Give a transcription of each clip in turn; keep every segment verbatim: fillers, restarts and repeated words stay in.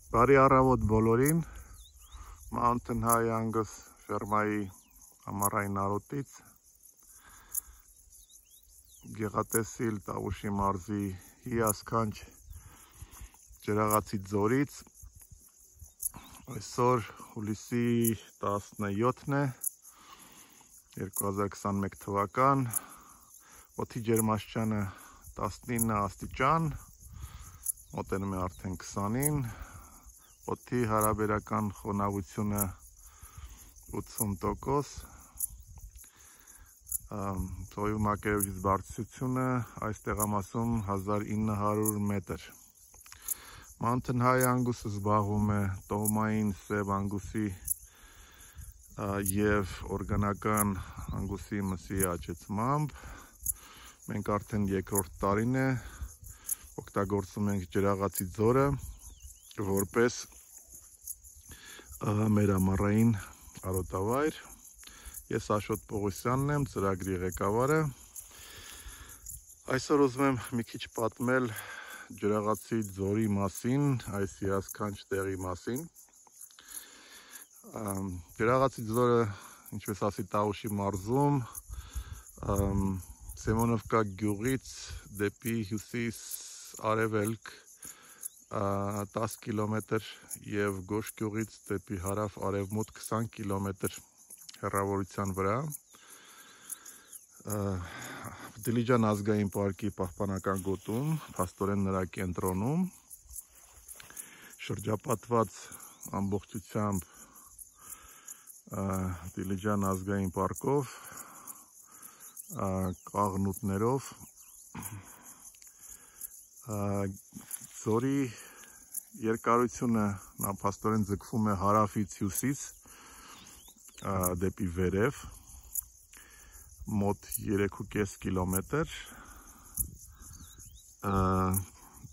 Բարի առավոտ բոլորին, Mountain High Angus ֆերմայի ամառային արոտից, Գեղատեսիլ Տավուշի մարզի հիասքանչ ջրաղացի ձորից, այսօր հուլիսի տասնյոթն է, երկու հազար քսանմեկ թվական, օդի ջերմաստիճանը տասնինը աստիճան, մոտենում է արդեն քսանին, օդի հարաբերական խոնավությունը ութսուն տոկոս, ծովի մակերևույթից բարձրությունը այս տեղամասում հազար ինը հարյուր մետր։ Mountain High Angus-ը զբաղվում է տոհմային սև անգուսի և օրգանական անգուսի մսի աճեցմամբ։ Մենք արդեն երկրորդ տարին է օգտագործում ենք ջրաղացի ձորը որպես մեր ամառային արոտավայր։ Ես Աշոտ Պողոսյանն եմ, ծրագրի ղեկավարը։ Այսօր ուզում եմ մի քիչ պատմել ջրաղացի ձորի մասին, այս հիասքանչ տեղի մասին։ Ջրաղացի ձորը, ինչպես ասի, Տավուշի մարզում, Սեմոնովկա գյուղից դեպի հյուսիս արևելք տասը կիլոմետր և Գոշ գյուղից դեպի հարավ արևմուտք քսան կիլոմետր հեռավորության վրա, Դիլիջան ազգային պարկի պահպանական գոտում, փաստորեն նրա կենտրոնում, շրջապատված ամբողջությամբ Դիլիջան ազգային պարկով, կաղնուտներով, ձորի երկարությունը նա փաստորեն ձգվում է հարավից հյուսիս դեպի վերև, մոտ երեք ու կես կիլոմետր,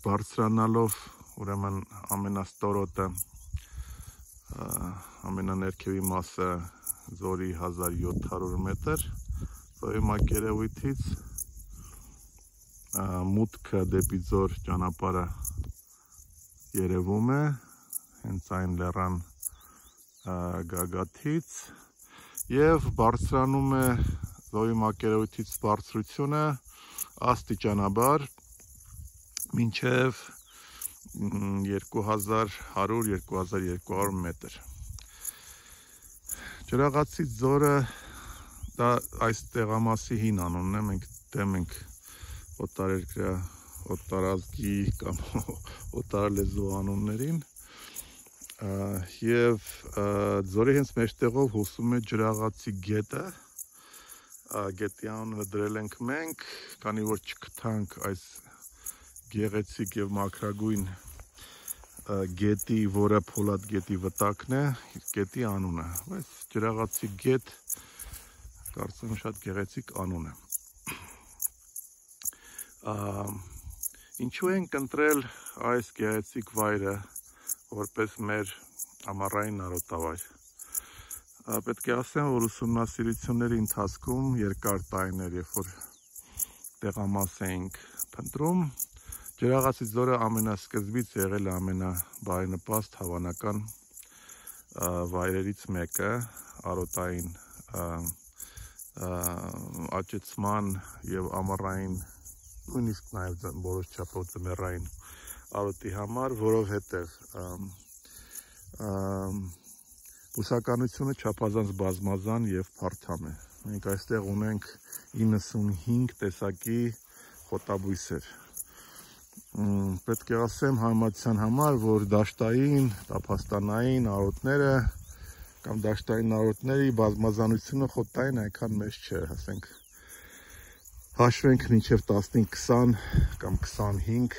բարձրանալով ուրեմն ամենաստորոտը, ամենաներքևի մասը ձորի հազար յոթ հարյուր մետր, ծովի մակերևույթից մուտքը դեպի ձոր ճանապարհը երևում է, հենց այն լեռան գագաթից և բարձրանում է ծովի մակերևույթից բարձրությունը աստիճանաբար մինչև երկու հազար հարյուր - երկու հազար երկու հարյուր մետր։ Ջրաղացի ձորը դա այս տեղամասի հին անունն է, մենք դեմ ենք օտարերկրյա, օտարազգի կամ օտարալեզու անուններին և ձորի հենց մեջտեղով հոսում է ջրաղացի գետը, գետի անունը դրել ենք մենք, քանի որ չգտանք այս գեղեցիկ և մաքրագույն գետի, որը Փոլադ գետի վտակն է, գետի անունը, բայց ջրաղացի գետ կարծում եմ շատ գեղեցիկ անուն է։ Ինչու ենք ընտրել այս գեղեցիկ վայրը որպես մեր ամառային արոտավայր։ Պետք է ասեմ, որ ուսումնասիրությունների ընթացքում երկար տարիներ, երբ որ տեղամաս էինք փնտրում, ջրաղացի ձորը ամենասկզբից եղել է ամենաբարենպաստ հավանական վայրերից մեկը արոտային աճեցման և ամառային, նույնիսկ նաև որոշ չափով ձմեռային արոտի համար, որովհետև բուսականությունը չափազանց բազմազան և փարթամ է։ Մենք այստեղ ունենք իննսունհինգ տեսակի խոտաբույսեր։ Պետք է ասեմ համեմատության համար, որ դաշտային, տափաստանային արոտները կամ դաշտային արոտների բազմազանությունը խոտային այնքան մեծ չէ, ասենք հաշվենք մինչև տասնհինգ քսան կամ քսանհինգ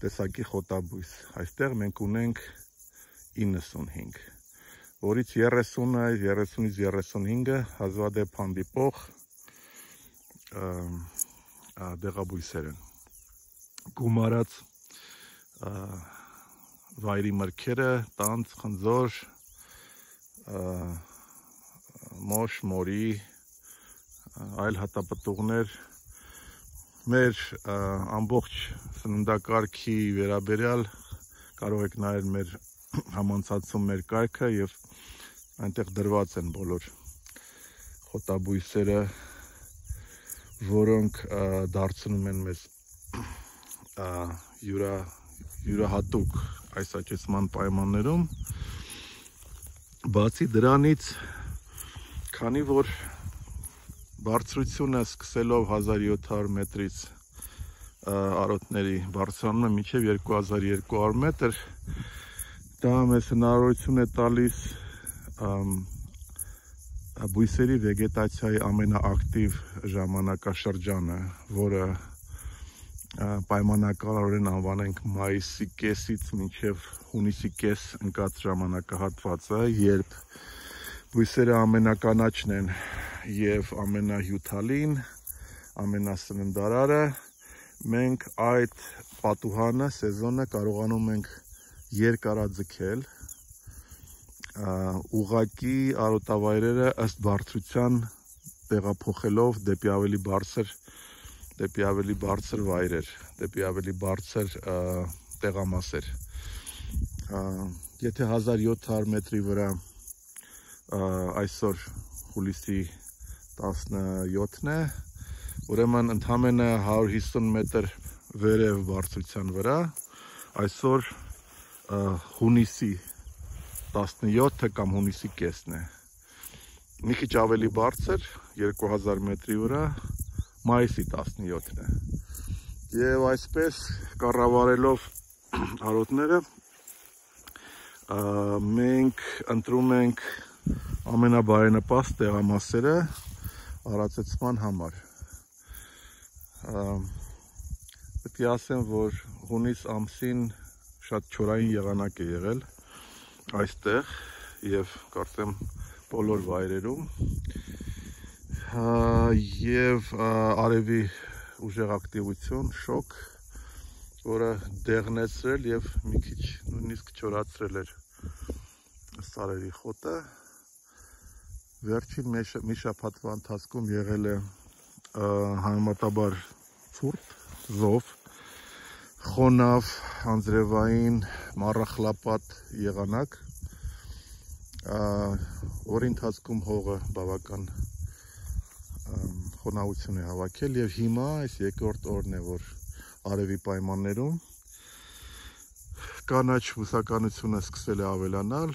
տեսակի խոտաբույս, այստեղ մենք ունենք իննսունհինգ, որից երեսունը, երեսունից երեսունհինգը հազվադեպ հանդիպող դեղաբույսեր են։ Գումարած վայրի մրգերը, տանձ, խնձոր, մոշ, մորի, այլ հատապտուղներ, մեր ամբողջ սննդակարգի վերաբերյալ կարող եք նայել մեր համանցածում մեր կայքը եւ այնտեղ դրված են բոլոր խոտաբույսերը, որոնք դարձնում են մեզ յուրա յուրահատուկ այս աճեցման պայմաններում։ Բացի դրանից, քանի որ բարձրությունը սկսելով հազար յոթ հարյուր մետրից արոտների բարձրանում է մինչև երկու հազար երկու հարյուր մետր, դա մեզ հնարավորություն է տալիս բույսերի վեգետացիայի ամենաակտիվ ժամանակաշրջանը, որը պայմանականորեն անվանենք մայիսի կեսից մինչև հունիսի կես ընկած ժամանակահատվածը, երբ բույսերը ամենականաչն են եւ ամենահյութալին, ամենասննդարարը, մենք այդ պատուհանը, սեզոնը կարողանում ենք երկարաձգել, ուղղակի արոտավայրերը ըստ բարձրության տեղափոխելով դեպի ավելի բարձր դեպի ավելի բարձր վայրեր, դեպի ավելի բարձր տեղամասեր։ Եթե հազար յոթ հարյուր մետրի վրա այսօր հուլիսի տասնյոթն է, ուրեմն ընդամենը հարյուր հիսուն մետր վերև բարձրության վրա, այսօր հունիսի տասնյոթը կամ հունիսի կեսն է։ Մի քիչ ավելի բարձր, երկու հազար մետրի վրա, մայիսի տասնյոթն է։ Եվ այսպես կառավարելով արոտները, մենք ընտրում ենք ամենաբարենպաստ տեղամասերը արածեցման համար։ Պետք է ասեմ, որ հունիս ամսին շատ չորային եղանակ է եղել այստեղ եւ կարծեմ բոլոր վայրերում, եւ արևի ուժեղ ակտիվություն, շոկ, որը դեղնեցրել եւ մի քիչ նույնիսկ չորացրել էր սարերի խոտը։ Վերջին մի շաբաթվա ընթացքում եղել է համեմատաբար ցուրտ, զով, խոնավ, անձրևային, մառախլապատ եղանակ, որի ընթացքում հողը բավական խոնավություն է հավաքել եւ հիմա այս երկրորդ օրն է, որ արևի պայմաններում կանաչ բուսականությունը սկսել է ավելանալ։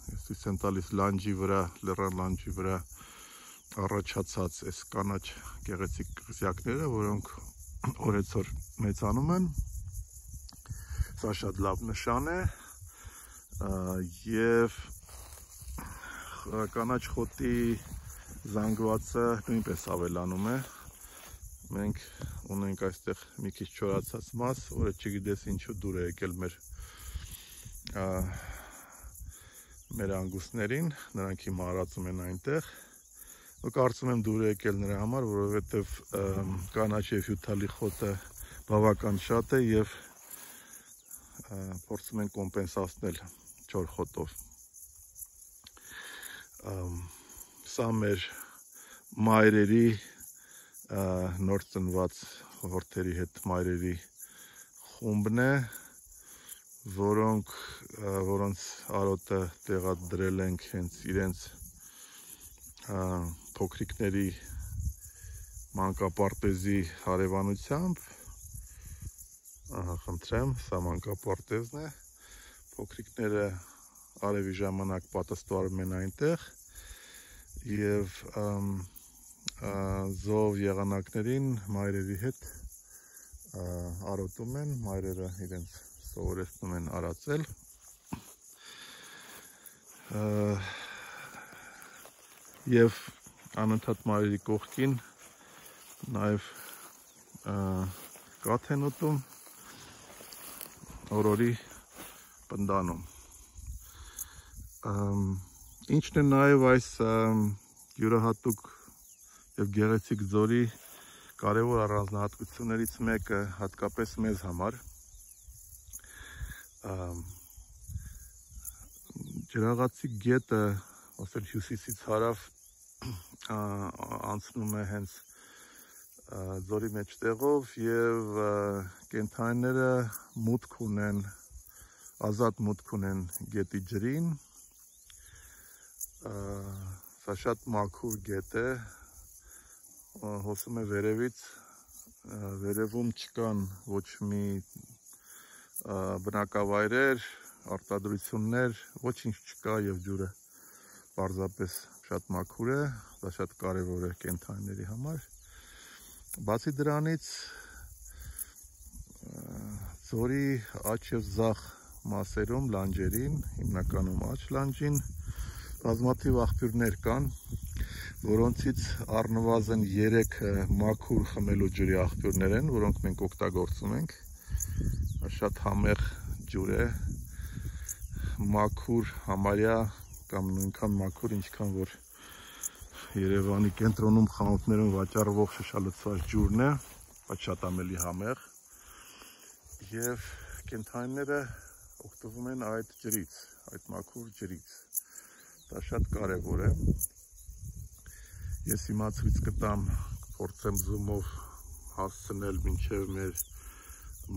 Ես ցույց եմ տալիս լանջի վրա, լեռան լանջի վրա առաջացած այս կանաչ գեղեցիկ կղզյակները, որոնք օրեցօր մեծանում են։ Սա շատ լավ նշան է եւ կանաչ խոտի զանգվածը նույնպես ավելանում է։ Մենք ունենք այստեղ մի քիչ չորացած մաս, որը չգիտես ինչու դուր է եկել մեր մեր անգուստներին, նրանք հիմա արածում են այնտեղ։ Ու կարծում եմ դուր է եկել նրա համար, որովհետև կանաչ եւ հյութալի խոտը բավական շատ է եւ փորձում են կոմպենսացնել չոր խոտով։ Սա մեր մայրերի նոր ծնված հորթերի հետ մայրերի խումբն է, որոնք որոնց արոտը տեղադրել ենք հենց իրենց փոքրիկների մանկապարտեզի հարևանությամբ։ Ահա, խնդրեմ, սա մանկապարտեզն է։ Փոքրիկները արևի ժամանակ պատասխանում են այնտեղ եւ զով եղանակներին մայրերի հետ արոտում են, մայրերը իրենց սովորեցնում են արածել։ Եվ անընդհատ մայրերի կողքին նաեւ կաթ են ուտում, օրորի պնդանում։ Ինչն է նաեւ այս յուրահատուկ եւ գեղեցիկ ձորի կարևոր առանձնահատկություններից մեկը, հատկապես մեզ համար, Ջրաղացի գետը, ասել հյուսիսից հարավ, անցնում է հենց ձորի մեջտեղով եւ կենդանիները մուտք ունեն ազատ մուտք ունեն գետի ջրին, սա շատ մաքուր գետ է, հոսում է վերևից, վերևում չկան ոչ մի բնակավայրեր, արտադրություններ, ոչինչ չկա և ջուրը պարզապես շատ մաքուր է, դա շատ կարևոր է կենդանիների համար։ Բացի դրանից ձորի աջ և ձախ մասերում, լանջերին, հիմնականում աջ լանջին, բազմաթիվ աղբյուրներ կան, որոնցից առնվազն երեքը մաքուր խմելու ջրի աղբյուրներ են, որոնք մենք օգտագործում ենք։ Շատ համեղ ջուր է, մաքուր, համարյա կամ նույնքան մաքուր, ինչքան որ Երևանի կենտրոնում խանութներում վաճառվող շշալցված ջուրն է, բայց շատ ամելի համեղ, և կենդանիները օգտվում են այդ ջրից, այդ մաքուր ջրից։ Դա շատ կարևոր է։ Ես հիմա ցույց կտամ, փորձեմ զումով հասցնել մինչև մեր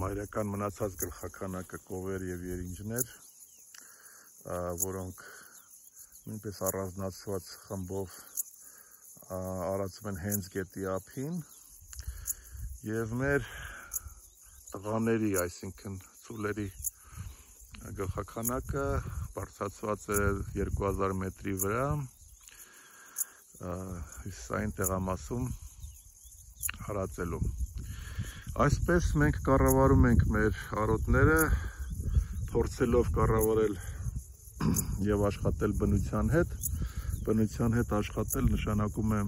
մայրական մնացած գլխաքանակը կովեր և երինջներ, որոնք նույնպես առանձնացված խմբով արածում են հենց գետի ափին, և մեր տղաների, այսինքն ծուլերի գլխաքանակը բարձրացված է երկու հազար մետրի վրա, հյուսիսային տեղամասում հարածելու։ Այսպես մենք կառավարում ենք մեր արոտները, փորձելով կառավարել և աշխատել բնության հետ։ Բնության հետ աշխատել նշանակում է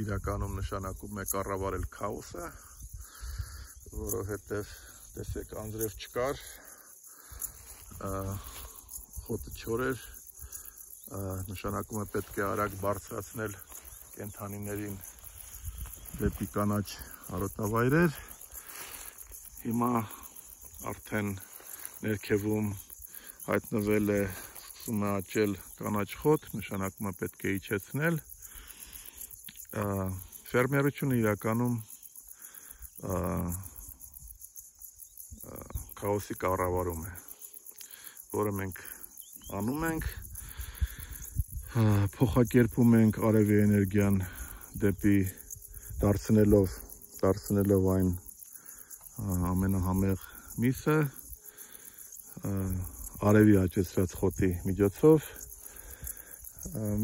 իրականում նշանակում է կառավարել քաոսը, որովհետև տեսեք անձրև չկար, խոտը չոր էր, նշանակում է պետք է արագ բարձրացնել կենդանիներին դեպի կանաչ արոտավայրեր։ Հիմա արդեն ներքևում հայտնվել է, սկսում է աճել կանաչ խոտ, նշանակում է պետք է իջեցնել։ Ֆերմերությունը իրականում քաոսի կառավարում է, որը մենք անում ենք, փոխակերպում ենք արևի էներգիան դեպի դարձնելով, դարձնելով այն ամենահամեղ միսը, արևի աճեցրած խոտի միջոցով,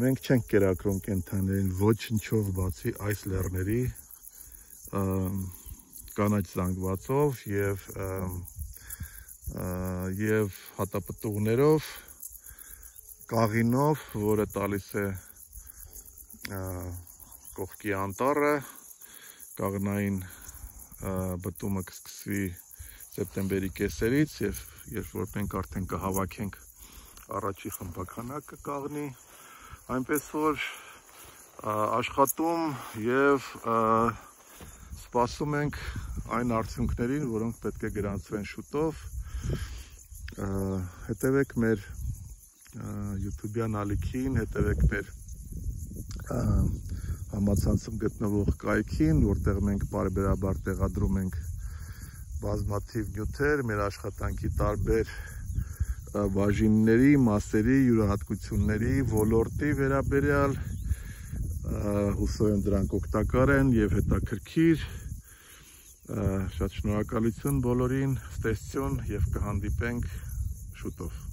մենք չենք կերակրում կենդանիներին ոչնչով բացի այս լեռների կանաչ զանգվածով և և հատապտուղներով, կաղինով, որը տալիս է կողքի անտառը, կաղնային բտումը կսկսվի սեպտեմբերի կեսերից և երբ որ մենք արդեն կհավաքենք առաջի խմբականակը կաղնի, այնպես որ աշխատում և սպասում ենք այն արդյունքներին, որոնք պետք է գրանցվեն շուտով։ Հետևեք մեր յութուբյան ալիքին, հետևեք մեր համացանցում գտնվող կայքին, որտեղ մենք պարբերաբար տեղադրում ենք բազմաթիվ նյութեր, մեր աշխատանքի տարբեր բաժինների, մասերի, յուրահատկությունների, ոլորտի վերաբերյալ, հուսով եմ դրանք օգտակար են և հետաքրքիր, շատ շնորհակալություն բոլորին, ստեսություն և կհանդիպենք շուտով։